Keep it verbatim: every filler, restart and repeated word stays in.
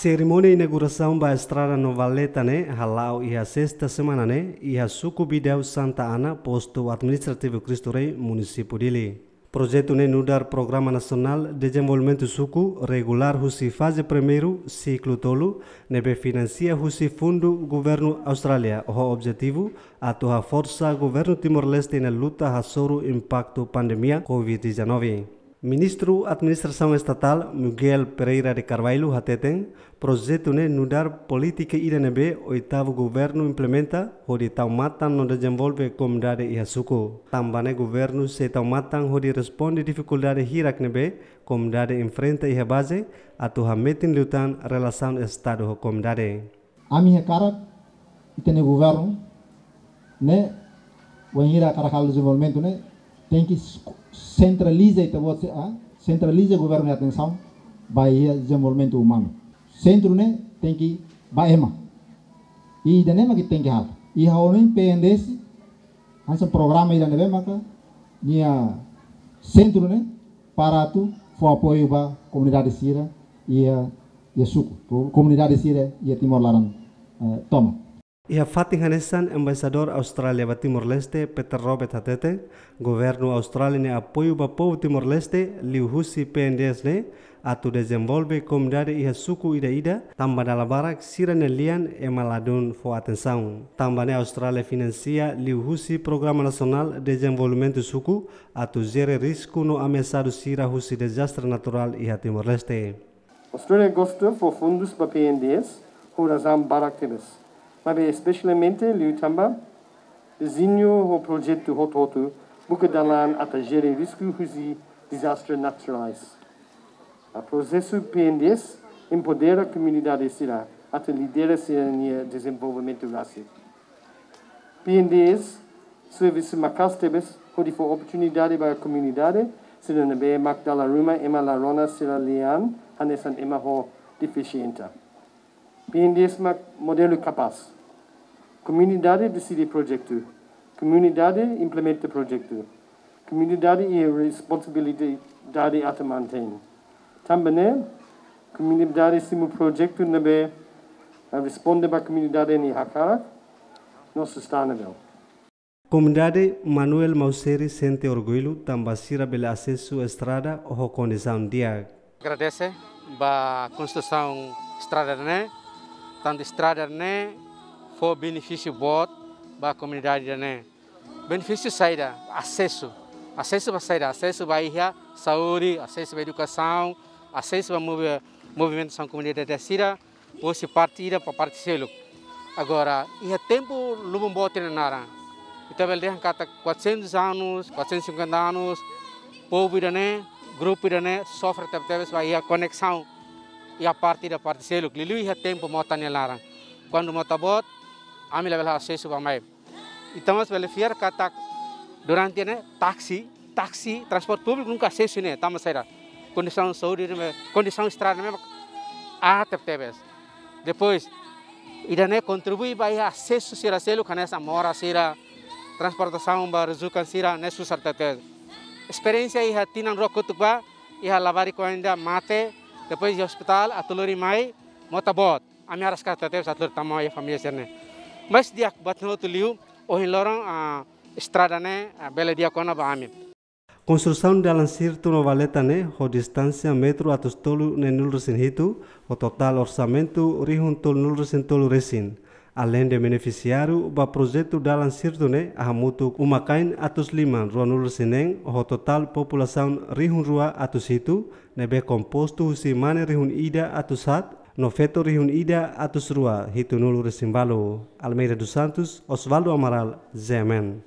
Serimónia inaugurasaun ba estrada Nova Valeta ne'e hala'o iha sesta semana ne'e, iha suku Bidau Santa Ana, postu administrativu Cristo Rei, munisípiu Dili. Projetu ne'e nu'udar Programa Nasionál Dezenvolvimentu Suku regulár husi faze primeiru, siklu tolu, ne'ebé finansia husi fundu governu Austrália, ho objetivu atu haforsa governu Timor-Leste nia luta hasoru impaktu pandemia covid dezanove. Ministru Administrasaun Estatál, Miguel Pereira de Carvalho, hateten, projetu ne'e nu'udar polítika ida ne'ebé oitavu governu implementa hodi tau matan no dezenvolve komunidade iha suku. Tanba ne'e governu sei tau matan hodi responde difikuldade hirak ne'ebé komunidade enfrenta iha baze, atu hametin liután relasaun Estadu ho komunidade. Ami hakarak, ita-nia governu ne'e, wainhira hakarak halo dezenvolvimentu ne'e, tenke s-, sentraliza ita-boot sira, ah, sentraliza governu nia atensaun ba iha dezenvolvimentu umanu. Sentru ne'e tenke ba ema. I ida-ne'e mak ita tenke halo. I ha'u hanoin P N D S hanesan programa ida ne'ebé maka nia sentru ne'e para atu fó apoiu ba komunidade sira iha, iha suku, ko-, komunidade sira iha Timor laran, eh, tomak. Iha fatin hanesan, Embaixadór Austrália ba Timor-Leste, Peter Roberts, hateten, governu Austrália nia apoiu ba povu Timor-Leste liuhusi P N D S ne'e atu dezenvolve komunidade iha suku ida-ida, tanba dala barak sira-nia lian ema ladún fó atensaun. Tanba ne'e Austrália finansia liuhusi Programa Nasionál Dezenvolvimentu Suku atu jere risku no ameasadu sira husi dezastre naturál iha Timor-Leste. Austrália gosta fó fundus ba P N D S ho razaun barak tebes. Maibé espesialmente liu tanba dezeñu ho projetu hotu-hotu buka dalan atu jere risku husi dezastre naturál. Prosesu P N D S empodera komunidade sira atu lidera sira-nia dezenvolvimentu rasik. P N D S servisu maka'as tebes hodi fó oportunidade ba komunidade sira ne'ebé mak dala ruma ema la rona sira lian, hanesan ema ho defisiénsia. P N D S mak modelu kapás. Komunidade deside projetu. Komunidade implementa projetu. Komunidade iha responsabilidade atu mantein. Tanba ne'e, komunidade simu projetu ne'ebé, eh, responde ba komunidade nia hakarak no sustentável. Komunidade Manuel Mauseri sente orgullu tanba sira bele asesu estrada ho kondisaun di'ak. Agradese ba konstrusaun estrada ne'e, tantu estrada ne'e fó benefísiu boot ba komunidade ne'e. Benefísiu saida, asesu. Asesu ba saida, asesu ba iha saúde, asesu ba edukasaun, asesu ba movi-, movimentasaun komunidade sira, husi parte ida ba parte seluk. Agora, iha tempu lubun boot nia naran. Ita bele dehan katak quatrocentos anos, quatrocentos e cinquenta anos, povu ida-ne'e, grupu ida-ne'e, sofre tebetebes ba iha koneksaun iha parte ida ba parte seluk. Liuliu iha tempu mota nia laran. Kuandu mota boot, ami labele asesu ba mai. Entaun, mós bele fiar katak durante ne'e, taksi, taksi, transporte públiku nunka asesu ne'e, tanba saida? Kondisaun saúde ne'e, kondisaun estrada ne'e, ah, tebetebes. Depois, ida-ne'e kontribui ba iha asesu sira seluk, hanesan mora sira, transportasaun ba rezukan sira, ne'e susar tebetebes. Esperiénsia iha tinan rua kotuk ba, iha labarik oan ida mate, depois iha ospitál, atu lori mai, mota boot. Ami araska tebetebes atu lori tama iha família sira-ne'e. Mas di'ak buat hotu liu, ohin loron, ah, estrada ne'e, ah, bele di'ak ona ba ami. Konstrusaun dalan sirtu Nova Valeta ne'e, ho distánsia metru atus tolu neenulu resin hitu, ho totál orsamentu rihun tolunulu resin tolu resin. Aleinde benefisiáriu ba projetu dalan sirtu ne'e, hamutuk uma-kain atus lima ruanulu resin neen, ho totál populasaun rihun rua atus hitu, ne'ebé kompostu husi mane rihun ida atus haat, no feto rihun ida atus rua hitunulu resin balu. Almeida dos Santos, Osvaldo Amaral, Z M N.